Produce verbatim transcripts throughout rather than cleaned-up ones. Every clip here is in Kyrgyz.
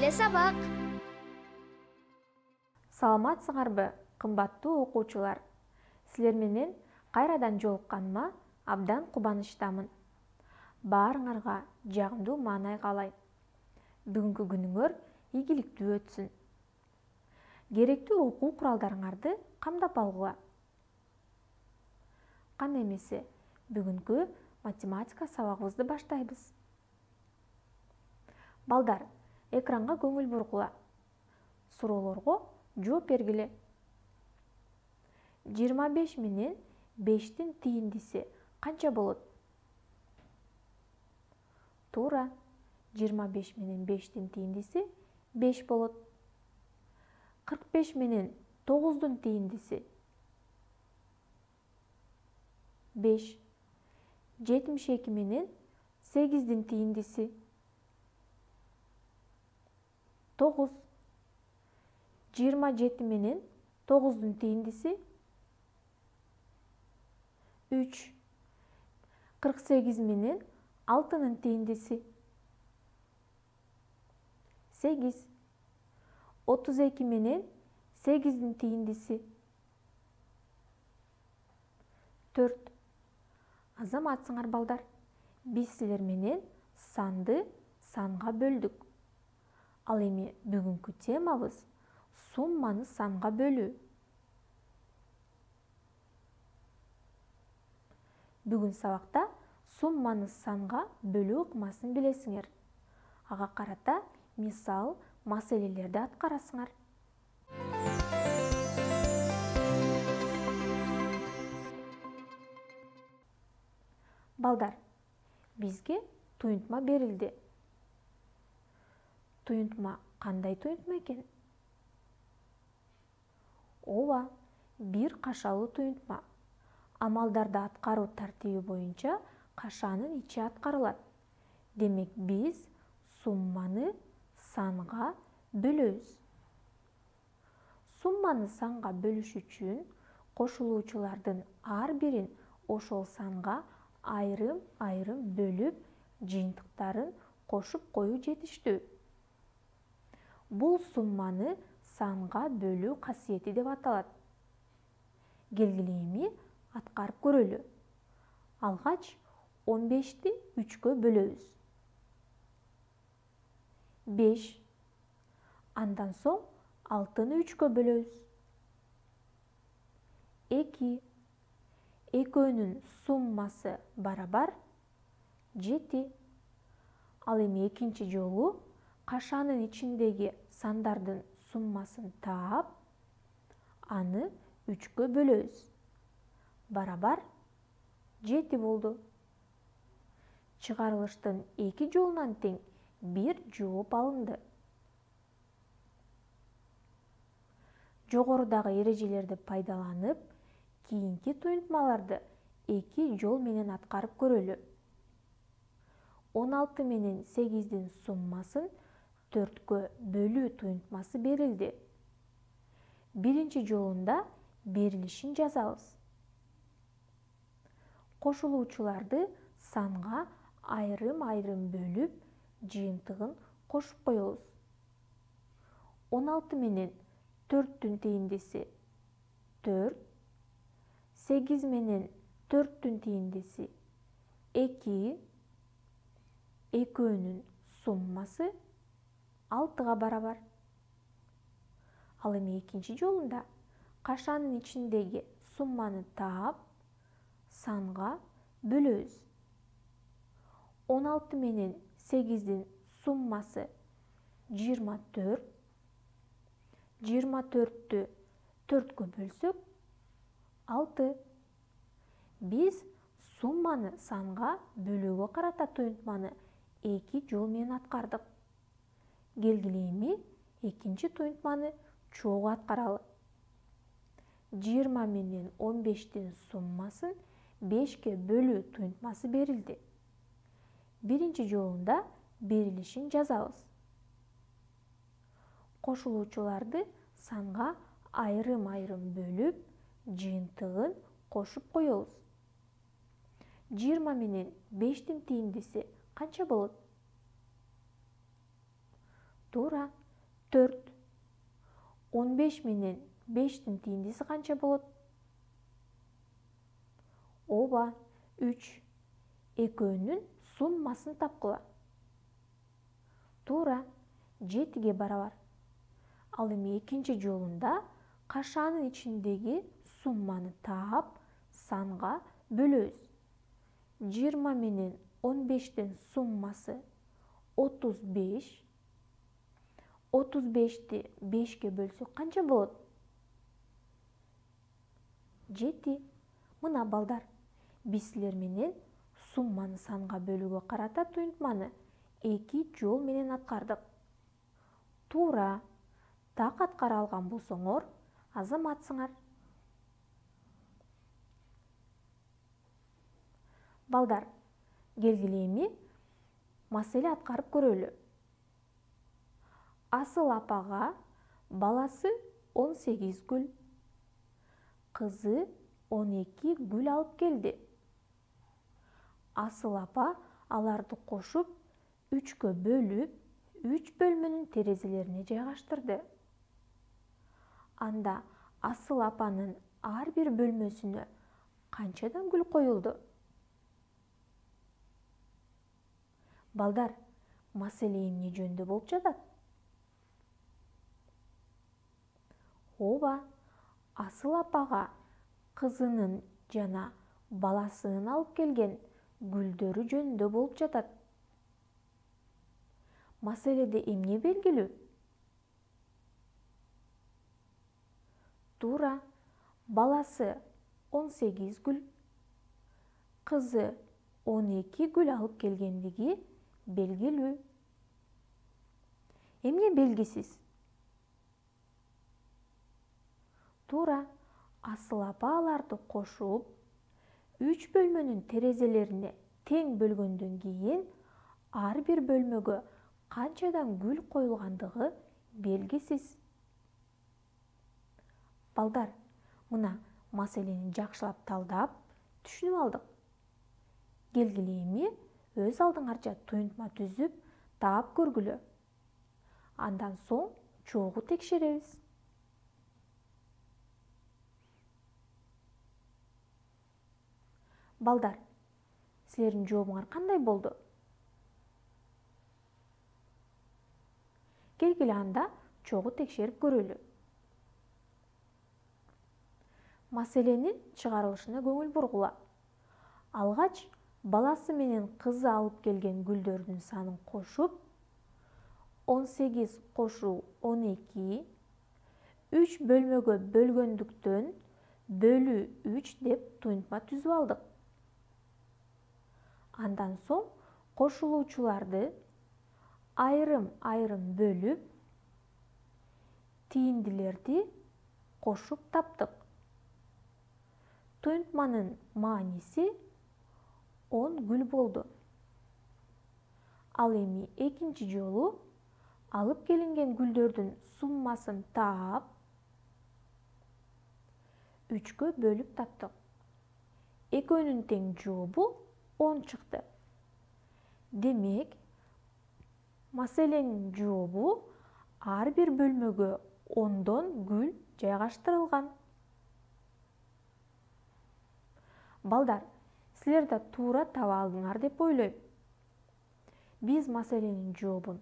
эле сабак. Саламатсыңарбы, кымбаттуу окуучулар? Силер менен кайрадан жолукканыма абдан кубанычтамын. Баарыңарга жагымдуу маанай каалайм. Бүгүнкү күнүңөр ийгиликтүү өтсүн. Керектүү окуу куралдарыңарды камдап алгыла. Кандай эмесе, бүгүнкү математика сабагыбызды баштайбыз. Балдар, экранга көңүл бургула. Суроолорго жооп бергиле. жыйырма беш менен бештин тийиндиси канча болот? Туура. жыйырма беш менен бештин тийиндиси беш болот. кырк беш менен тогуздун тийиндиси беш. жетимиш эки менен сегиздин тийиндиси тогуз. жыйырма жети менен тогуздун тийиндиси үч. кырк сегиз менен алтынын тийиндиси сегиз. отуз эки менен сегиздин тийиндиси төрт. Азаматсыңар балдар, биз силер менен санды санга бөлдүк. Ал эми бүгүнкү темабыз сумманы санга бөлүү. Бүгүн сабакта сумманы санга бөлүү ыкмасын билесиңер. Ага карата мисал, маселелерди аткарасыңар. Балдар, бизге туюнтма берилди. Туюнтма кандай туюнтма экен? Ооба, бир кашалуу туюнтма. Амалдарды аткаруу тартиби боюнча кашанын ичи аткарылат. Демек биз сумманы санга бөлөбүз. Сумманы санга бөлүш үчүн кошулуучулардын ар бирин ошол санга айрым-айрым бөлүп, жыйынтыктарын кошуп коюу жетиштүү. Бул сумманы санга бөлүү касиети деп аталат. Келгиле эми аткарып көрөлү. Алгач он бешти үчкө бөлөбүз. беш. Андан соң алтыны үчкө бөлөбүз. эки. Экөөнүн суммасы барабар жети. Ал эми экинчи жолу кашанын ичиндеги сандардын суммасын таап, аны үчкө бөлөбүз. Барабар жети болду. Чыгарылыштын эки жолунан тең бир жооп алынды. Жогорудагы эрежелерди пайдаланып, кийинки туюнтмаларды эки жол менен аткарып көрөлү. он алты менен сегиздин суммасын төрткө бөлүү туюнтмасы берилди. Биринчи жолунда берилишин жазабыз. Кошулуучуларды санга айрым-айрым бөлүп, жыйынтыгын кошуп коебуз. он алты менен төрттүн тийиндиси төрт. сегиз менен төрттүн тийиндиси эки. Экөөнүн суммасы алтыга барабар. Ал эми экинчи жолунда кашанын ичиндеги сумманы таап, санга бөлөбүз. он алты менен сегиздин суммасы жыйырма төрт. жыйырма төрттү төрткө бөлсөк алты. Биз сумманы санга бөлүүгө карата туюнтманы эки жол менен аткардык. Келгиле эми экинчи туюнтманы чогуу аткаралы. жыйырма менен он бештин суммасын бешке бөлүү туюнтмасы берилди. Биринчи жолунда берилишин жазабыз. Кошулуучуларды санга айрым-айрым бөлүп, жыйынтыгын кошуп коебуз. жыйырма менен бештин тийиндиси канча болот? Туура. төрт. он беш менен бештин тийиндиси канча болот? Ооба, үч. Экөөнүн суммасын тапкыла. Туура. жетиге барабар. Ал эми экинчи жолунда кашаанын ичиндеги сумманы таап, санга бөлөбүз. жыйырма менен он бештин суммасы отуз беш. отуз бешти бешке бөлсөк канча болот? жети. Мына балдар, биз силер менен сумманы санга бөлүүгө карата туйунтманы эки жол менен аткардык. Туура. Так аткара алган болсоңор, азаматсыңар. Балдар, келгиле эми маселе аткарып көрөлү. Асыл апага баласы он сегиз гүл, кызы он эки гүл алып келди. Асыл апа аларды кошуп, үчкө бөлүп, үч бөлмөнүн терезелерине жайгаштырды. Анда Асыл апанын ар бир бөлмөсүнө канчадан гүл коюлду? Балдар, маселе эмне жөнүндө болуп жатат? Ооба, Асыл апага кызынын жана баласынын алып келген гүлдөрү жөнүндө болуп жатат. Маселеде эмне белгилүү? Туура. Баласы он сегиз гүл, кызы он эки гүл алып келгендиги белгилүү. Эмне белгисиз? Туура. Асыл апа аларды кошуп, үч бөлмөнүн терезелерине тең бөлгөндөн кийин ар бир бөлмөгө канчадан гүл коюлгандыгы белгисиз. Балдар, мына маселени жакшылап талдап, түшүнүп алдык. Келгиле эми өз алдыңарча туюнтма түзүп, таап көргүлө. Андан соң чогуу текшеребиз. Балдар, силердин жообуңар кандай болду? Келгиле анда чогуу текшерип көрөлү. Маселенин чыгарылышына көңүл бургула. Алгач баласы менен кызы алып келген гүлдөрдүн санын кошуп, он сегиз кошуу он эки, үч бөлмөгө бөлгөндүктөн бөлүү үч деп туюнтма түзүп алдык. Андан соң кошулуучуларды айрым-айрым бөлүп, тийиндилерди кошуп таптык. Туюнтманын мааниси он гүл болду. Ал эми экинчи жолу алып келинген гүлдөрдүн суммасын таап, үчкө бөлүп таптык. Экөөнүн тең жообу он чыкты. Демек, маселенин жообу ар бир бөлмөгө ондон гүл жайгаштырылган. Балдар, силер да туура таба алдыңар деп ойлойм. Биз маселенин жообун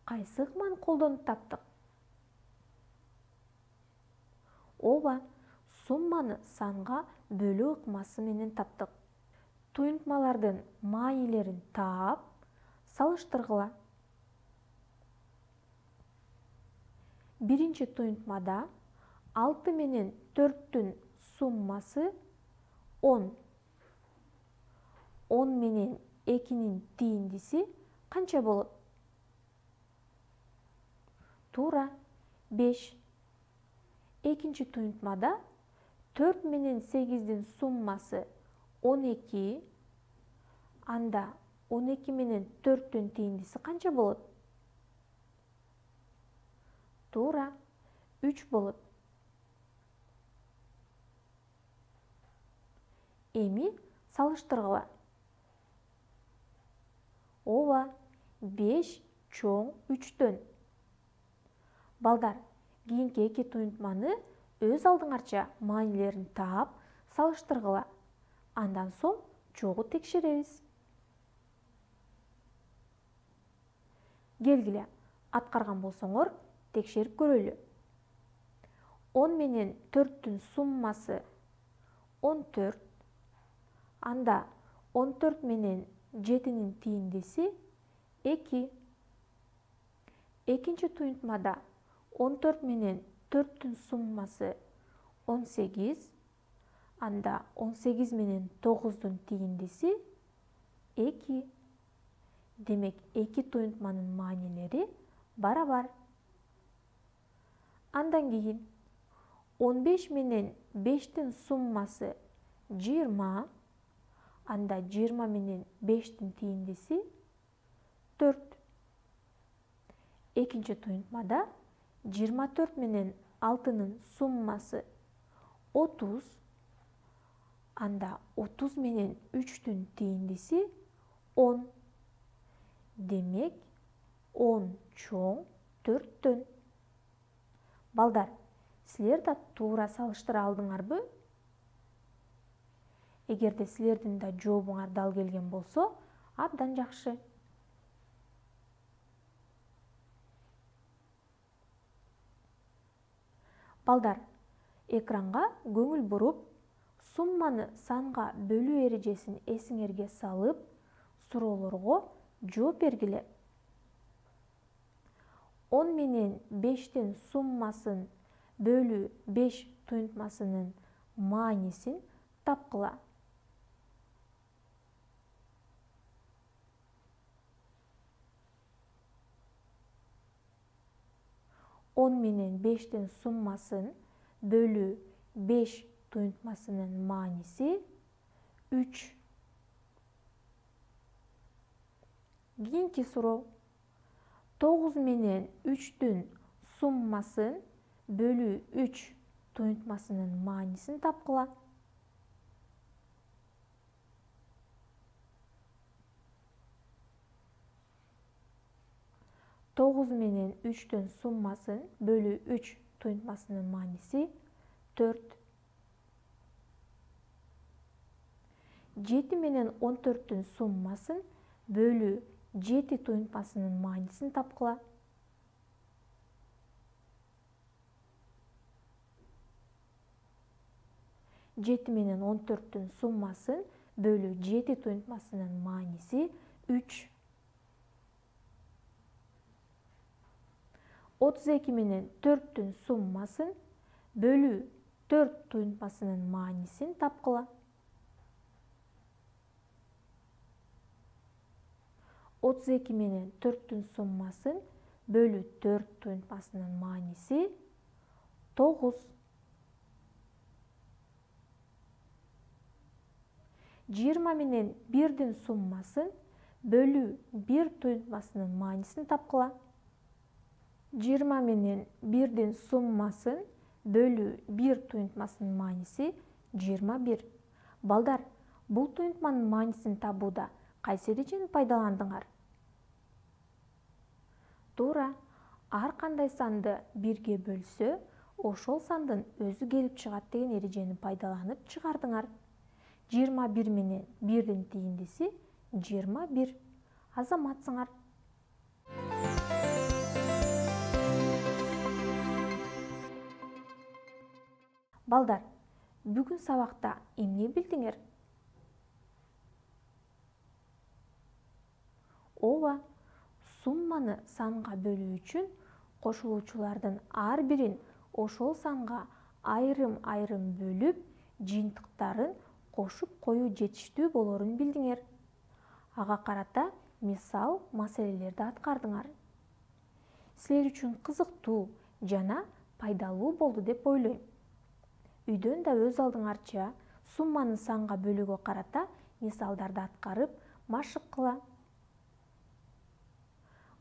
кайсы ыкманы колдонуп таптык? Ооба, сумманы санга бөлүү ыкмасы менен таптык. Туюнтмалардын маанилерин таап, салыштыргыла. Биринчи туюнтмада алты менен төрттүн суммасы он. он менен экинин тийиндиси канча болот? Туура, беш. Экинчи туюнтмада төрт менен сегиздин суммасы он эки. Анда он эки менен төрттүн тийиндиси канча болот? Туура, үч болот. Эми салыштыргыла. Ооба, беш чоң үчтөн. Балдар, кийинки эки туюнтманы өз алдыңарча маанилерин таап, салыштыргыла. Андан соң чогуу текшеребиз. Келгиле, аткарган болсоңор, текшерип көрөлү. он менен төрттүн суммасы он төрт. Анда он төрт менен жетинин тийиндеси эки. Экинчи туюнтмада он төрт менен төрттүн суммасы он сегиз. Анда он сегиз менен тогуздун тийиндеси эки. Демек, эки туюнтманын маанилери барабар. Андан кийин он беш менен бештин суммасы жыйырма. Анда жыйырма менен бештин тийиндеси төрт. Экинчи туюнтмада жыйырма төрт менен алтынын суммасы отуз. Анда отуз менен үчтүн тийиндеси он. Демек, он чоң төрттөн. Балдар, силер да туура салыштыра алдыңарбы? Эгерде силердин да жообуңар дал келген болсо, абдан жакшы. Балдар, экранга көңүл буруп, сумманы санга бөлүү эрежесин эсиңерге салып, суроолорго жооп бергиле. он менен бештин суммасын бөлүү беш туюнтмасынын маанисин тапкыла. он менен бештин суммасын бөлүү беш туюнтмасынын мааниси үч. Кийинки суроо. тогуз менен үчтүн суммасын бөлүү үч туюнтмасынын маанисин тапкыла. тогуз менен үчтүн суммасын бөлүү үч туюнтмасынын мааниси төрт. жети менен он төрттүн суммасын бөлүү жети туюнтмасынын маанисин тапкыла. жети менен он төрттүн суммасын бөлүү жети туюнтмасынын мааниси үч. отуз эки менен төрттүн суммасын бөлүү төрт туюнтмасынын маанисин тапкыла. отуз эки менен төрттүн суммасын бөлүү төрт туюнтмасынын мааниси тогуз. жыйырма менен бирдин суммасын бөлүү бир туюнтмасынын маанисин тапкыла. жыйырма менен бирдин суммасын бөлүү бир туюнтмасынын мааниси жыйырма бир. Балдар, бул туюнтманын маанисин табууда кайсы эрежени пайдаландыңар? Туура, ар кандай санды бирге бөлсө, ошол сандын өзү келип чыгат деген эрежени пайдаланып чыгардыңар. жыйырма бир менен бирдин тийиндеси жыйырма бир. Азаматсыңар. Балдар, бүгүн сабакта эмне билдиңер? Ооба, сумманы санга бөлүү үчүн кошулуучулардын ар бирин ошол санга айрым-айрым бөлүп, жыйынтыктарын кошуп коюу жетиштүү болорун билдиңер. Ага карата мисал маселелерди аткардыңар. Силер үчүн кызыктуу жана пайдалуу болду деп ойлойм. Үйдөн да өз алдыңарча сумманы санга бөлүүгө карата мисалдарды аткарып, машык кыла.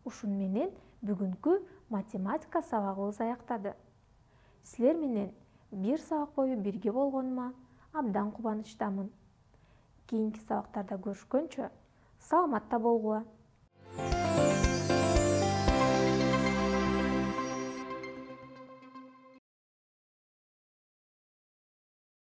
Ушун менен бүгүнкү математика сабагыбыз аяктады. Силер менен бир сабак бою бирге болгонума абдан кубанычтамын. Кийинки сабактарда көрүшкөнчө саламатта болгула.